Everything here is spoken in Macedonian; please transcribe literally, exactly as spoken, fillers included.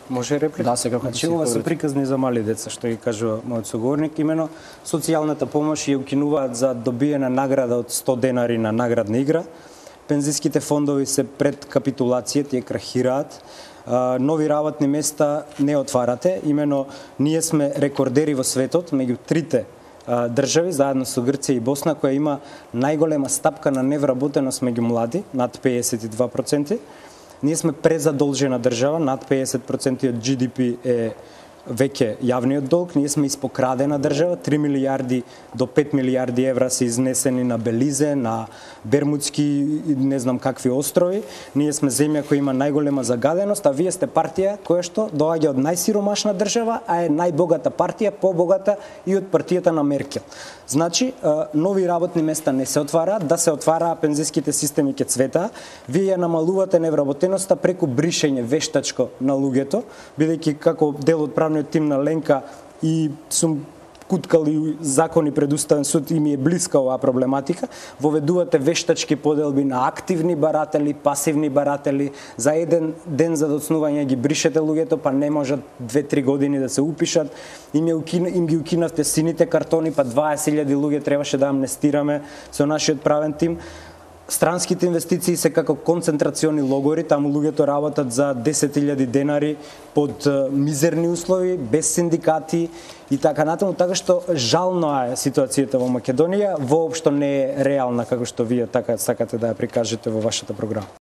Може реплика? Да, секако. Значи, ова се приказни за мали деца, што ги кажува мојот соговорник, имено социјалната помош ја укинуваат за добиена награда од сто денари на наградна игра. Пензиските фондови се пред капитулација, тие крахираат. Нови работни места не отварате, имено ние сме рекордери во светот меѓу трите држави, заедно со Грција и Босна, која има најголема стапка на невработеност меѓу млади, над педесет и два проценти. Ние сме презадолжена држава, над педесет проценти од Джи Ди Пи е веќе јавниот долг. Ние сме испокрадена држава, три милијарди до пет милијарди евра се изнесени на Белизе, на Бермудски, не знам какви острови. Ние сме земја која има најголема загаденост, а вие сте партија која што доаѓа од најсиромашна држава, а е најбогата партија, побогата и од партијата на Меркел. Значи, нови работни места не се отвараат, да се отвараат пензиските системи ке цвета. Вие ја намалувате невработеноста преку бришење вештачко на луѓето, бидејќи како дел од правниот тим на Ленка и сум куткали закони пред Уставен суд и ми е блиска оваа проблематика, воведувате вештачки поделби на активни баратели, пасивни баратели, за еден ден за доцнување ги бришете луѓето, па не можат две-три години да се упишат, им, укин, им ги укинавте сините картони, па дваесет илјади луѓе требаше да амнестираме со нашиот правен тим. Странските инвестиции се како концентрациони логори, таму луѓето работат за десет илјади денари под мизерни услови, без синдикати и така натаму, така што жално е ситуацијата во Македонија, воопшто не е реална како што вие така сакате да ја прикажете во вашата програма.